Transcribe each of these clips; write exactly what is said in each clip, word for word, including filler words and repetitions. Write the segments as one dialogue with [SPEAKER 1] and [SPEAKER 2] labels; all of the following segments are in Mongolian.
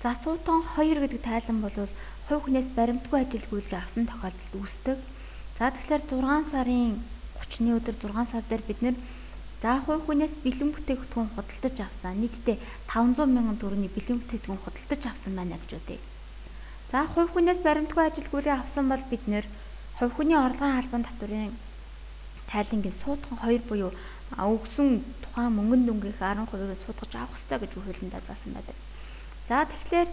[SPEAKER 1] За суутан хоёр гэдэг тайлан бол хувь хүнээс баримтгүй ажилгүйдлийг авсан тохиолдолд үүсдэг. За тэгэхээр зургаан сарын гуравны өдөр зургаан сар дээр бид нэр за хувь хүнээс бэлэн бүтээгдэхүүн худалдаж авсан нийтдээ таван зуун мянган төгрөгийн бэлэн бүтээгдэхүүн худалдаж авсан байна гэж үтэй. За хувь хүнээс баримтгүй ажилгүйдлийг авсан бол бид нэр хувь хүний орлогын албан татврын тайлангийн суутхан хоёр буюу өгсөн тухайн мөнгөн дүнгийн арван хувийг судгаж авах ёстой гэж хуулиндаа заасан байдаг. За тэгэхээр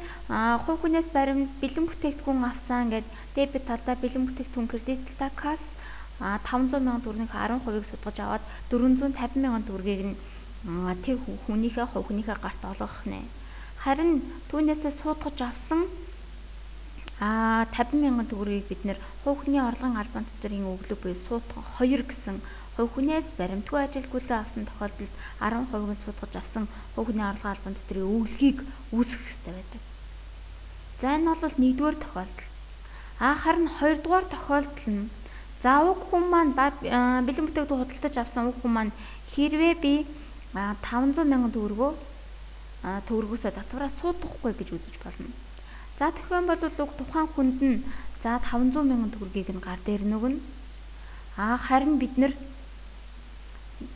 [SPEAKER 1] хувь хүнээс баримт бэлэн бүтээгдэхүүн авсан гэд дебет талдаа бэлэн бүтээгдэхүүн кредит талдаа касс таван зуун мянган төгрөгийн арван хувийг судгаж аваад дөрвөн зуун тавин мянган төгрөгийг нь тэр хүнийхээ хувь хүнийхээ гарт олгох нэ. Харин түүнээсээ судгаж авсан а тавин мянган төгрөгийг бид нэр хувь хүний орлогын албан татврын өглөг буюу суутхан хоёр гэсэн хувь хүнээс баримтгүй ажилгүйдлээ авсан тохиолдолд арван хувийг судгаж авсан хувь хүний орлогын албан татврын өглөгийг үүсгэх ёстой байдаг. За энэ бол нэгдүгээр тохиолдол. А харин хоёрдугаар тохиолдол нь за уг хүн маань бэлэн бүтээгдэхүүн худалдаж авсан уг хүн маань хэрвээ би таван зуун мянган төгрөгөө төгрөгөөсөө татвараас суудахгүй гэж үзэж болно. За тэгэхээр бол уг тухайн хүнд нь за таван зуун мянган төгрөгийг нь гар дээр нөгнө. А харин бид нэр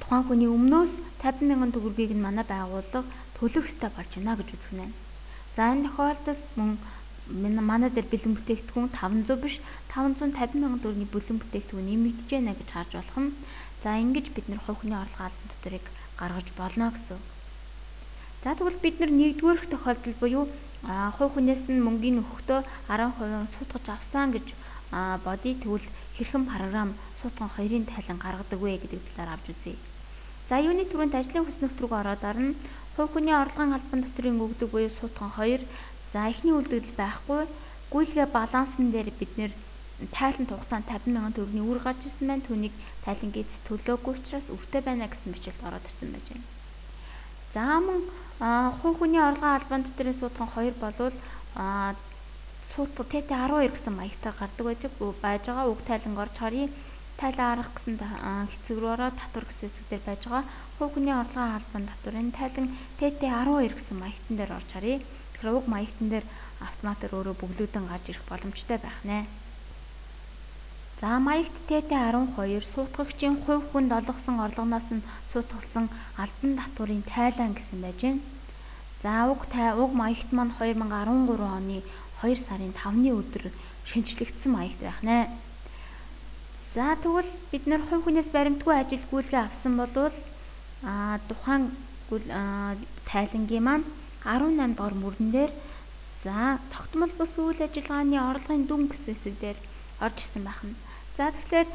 [SPEAKER 1] тухайн хүний өмнөөс тавин мянган төгрөгийг нь манай байгууллага төлөх ёстой болж байна гэж үзэх нэ. За энэ тохиолдолд мөн манай дээр бэлэн бүтээгдэхүүн таван зуун биш таван зуун тавин мянган төгрөгийн бэлэн бүтээгдэхүүн нэмэгдэж байна гэж харж болох нь. За ингэж бид нэр хувь хүний орлогын албан татврыг гаргаж болно гэсэн. За тэгвэл бид нар нэгдүгээрх тохиолдол буюу хувь хүнээс нь мөнгөний өгөхдөө арван хувийг суудгаж авсан гэж бодъё. Тэгвэл хэрхэн програм суутхан хоёрын тайлан гаргадаг вэ гэдэг талаар авч үзье. За юуны түрүүнд ажлын хүч нөхцөлөг ороод арна хувь хүний орлогын албан татврын өгдөг буюу суутхан хоёр. За эхний үлдэгдэл байхгүй. Гүйлгээ балансан дээр бид нэр тайлант хугацаанд тавин мянган төгрөгийн үр гарч ирсэн байна. Түүнийг тайлангийн эцэст төлөөгүй учраас өртөө байна гэсэн бичилд ороод ирсэн байж байна. За мөн хувь хүний орлогын албан татврын суутхан хоёр болвол суутга тэ тэ арван хоёр гэсэн маягтаар гардаг байж байгаа. Уг тайланг орж харъя. Тайлан арга гэсэн хэсэг рүү ороод татвар гэсэн хэсэг дээр байж байгаа. Хувь хүний орлогын албан татврын тайлан тэ тэ арван хоёр гэсэн маягтан дээр орж харъя. Тэгэхээр уг маягтан дээр автоматар өөрөө бүглэгдэн гарч ирэх боломжтой байх нэ. За маягт тэ тэ арван хоёр суутгагчийн хувь хүнд олгосон орлогоноос нь суутгалсан албан татврын тайлан гэсэн байж байна. За уг уг маягт маань хоёр мянган арван гурав оны хоёр сарын тавны өдөр шинжлэгдсэн маягт байх нэ. За тэгвэл бид нэр хувь хүнээс баримтгүй ажилгүйдлээ авсан бол а тухайн тайлангийн маань арван намд дугаар мөрөн дээр за тогтмол бус үйл ажиллагааны орлогын дүн гэсэн хэсэг дээр орж ирсэн байна. За тэгэхээр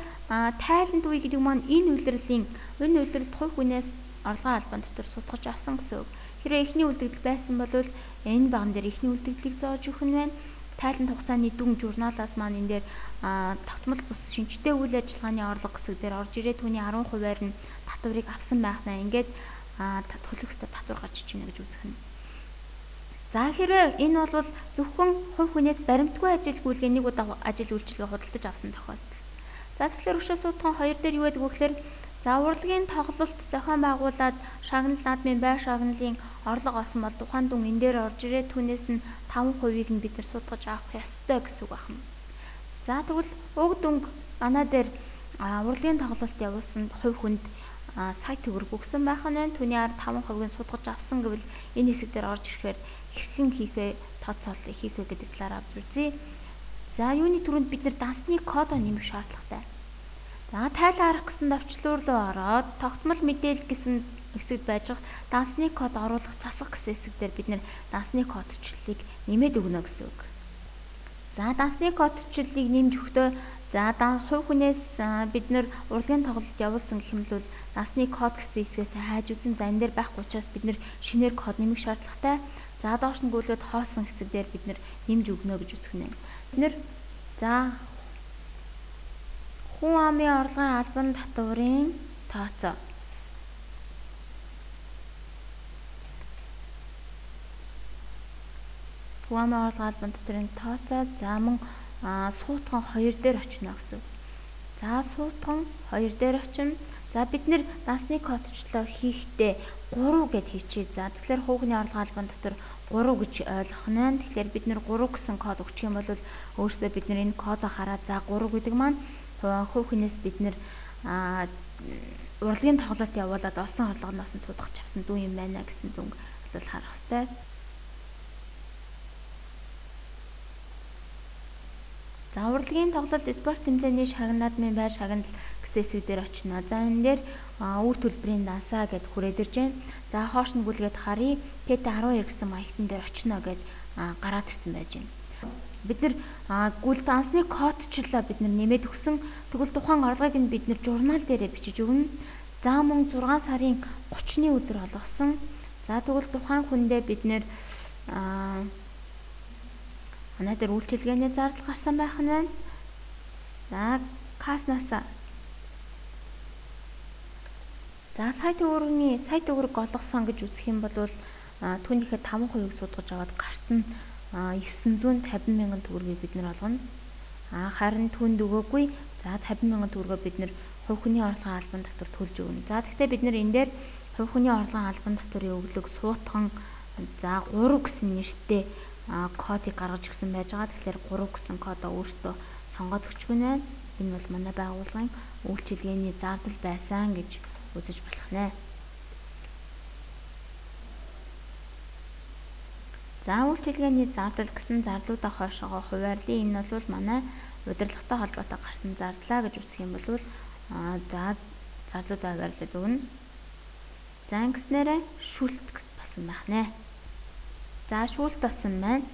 [SPEAKER 1] тайлант үе гэдэг маань энэ үйлрэлийн энэ үйлрэлт хувь хүнээс орлогын албан татвар судгаж авсан гэсэн үг. Хэрвээ эхний үлдэгдэл байсан бол энэ баган дээр эхний үлдэгдлийг зоож өгөх нь байна. Тайлант хугацааны дүн журналаас маань энэ дээр тогтмол бус шинжтэй үйл ажиллагааны орлого хэсэг дээр орж ирээд түүний арван хувиар нь татварыг авсан байна. Ингээд төлөх ёстой татвар гарч иж байна гэж үзэх нь. За хэрвээ энэ бол зөвхөн хувь хүнээс баримтгүй ажилгүйдлээ нэг удаа ажил үйлчилгээ худалдаж авсан тохиолдол. За тэгэхээр өшөө суутхан хоёр дээр юу гэдэг вэ гэхээр за урлагийн тоглолт зохион байгуулад шагнал наадмын бай шагналын орлого олсон бол тухайн дүн энэ дээр орж ирээд түүнээс нь таван хувийг нь бид нар судгаж авах ёстой гэсэн үг байна. За тэгвэл уг дүнг манай дээр урлагийн тоглолт явуулсан хувь хүнд сая төгрөг өгсөн байх нь байна. Түүний ар таван хувийг нь судгаж авсан гэвэл энэ хэсэг дээр орж ирэхээр хэрхэн хийх вэ? Тооцоолол хийх вэ гэдэг талаар авч үзье. За юуны түрүүнд бид нар дансны кодоо нэмэх шаардлагатай. За тайлан арга гэсэн давчлуур руу ороод тогтмол мэдээлэл гэсэн хэсэгт байж байгаа дансны код оруулах засах гэсэн хэсэг дээр бид нэр дансны кодчлалыг нэмээд өгнө гэсэн үг. За дансны кодчлалыг нэмж өгтөө за хувь хүнээс бид нэр урлагийн тоглолт явуулсан гэх юм бол дансны код гэсэн хэсгээс хайж үзэн за энэ дээр байхгүй учраас бид нэр шинээр код нэмэх шаардлагатай. За доош нь гүйлгээд хоосон хэсэг дээр бид нэр нэмж өгнө гэж үзэх нэ. Бид нэр за хүн амын орлогын албан татврын тооцоо. Хүн амын орлогын албан татврын тооцоо за мөн суутхан хоёр дээр очино гэсэн. За суутхан хоёр дээр очино. За бид нэр насны кодчлоо хийхдээ гурав гэд хийчихье. За тэгэхээр хүүхний орлогын албан дотор гурав гэж ойлгох нь байна. Тэгэхээр бид нэр гурав гэсэн код өгчих юм бол өөрөөсөө бид нэр энэ кодоо хараад за гурав гэдэг маань хүүхнээс бид нэр урлагийн тоглолт явуулаад олсон орлогоноос нь судалж авсан дүү юм байна гэсэн дүнг бол харах хэрэгтэй. За урлагийн тоглолт спорт тэмцээний шагнадмын бай шагнал гэсэн хэсэг дээр очино. За энэ дээр үр төлбөрийн дансаа гэд хүрээд ирж байна. За хоош нь гүлгээд харъя. Тэт арван хоёр гэсэн маягтан дээр очино гэд гараад ирсэн байж байна. Бид нэр гүл дансны кодчлоо бид нар нэмээд өгсөн. Тэгвэл тухайн орлогыг нь бид нэр журнал дээрээ бичиж өгнө. За мөн зургаан сарын гуравны өдөр олгосон. За тэгвэл тухайн хүндээ бид нэр манай дээр үйлчилгээний зардал гарсан байх нь байна. За каснасаа. За сая төгрөгийн сая төгрөг олгосон гэж үзэх юм бол түүнийхээ таван хувийг судгаж аваад гарт нь девсан зуун тавин мянган төгрөгийг бид нар олгоно. А харин түнд өгөөгүй. За тавин мянган төгрөгөө бид нар хувь хүний орлогын албан татвар төлж өгнө. За гэхдээ бид нар энэ дээр хувь хүний орлогын албан татварын өглөг суутхан за гурав гэсэн нэртэй кодыг гаргаж өгсөн байж байгаа. Тэгэхээр гурав гэсэн кодоо өөртөө сонгоод өчгөн байна. Энэ бол манай байгууллагын үйлчилгээний зардал байсан гэж үзэж болох нэ. За үйлчилгээний зардал гэсэн зарлуудаа хойшоогоо хуваарлаа. Энэ бол манай удирдлагатай холбоотой гарсан зардлаа гэж үзэх юм бол за зарлуудаа хуваарлаад өгнө. За ингэснээрээ шүлт болсон байх нэ. За шүүлт болсон байна.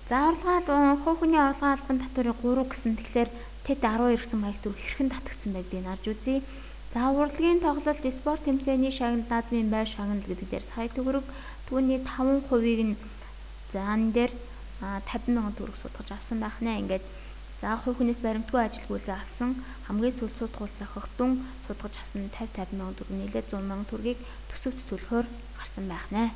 [SPEAKER 1] За орлогын хүүхний орлогын албан татварын гурав гэсэн тэгэхээр тэт арван хоёр гэсэн маягт төр хэрхэн татагдсан байдгийг харж үзье. За урлагийн тоглолт спорт тэмцээний шагнал наадмын бай шагнал гэдэг дээр сая төгрөг түүний таван хувийг нь за энэ дээр тавин мянган төгрөг судгаж авсан байх нэ. Ингээд за хүүхнээс баримтгүй ажилгүйгээ авсан хамгийн сүүл судгуул зохиогдсон судгаж авсан тавин тавин мянган төгрөг нийлээд зуун мянган төгрөгийг төсөвт төлөхөөр гарсан байх нэ.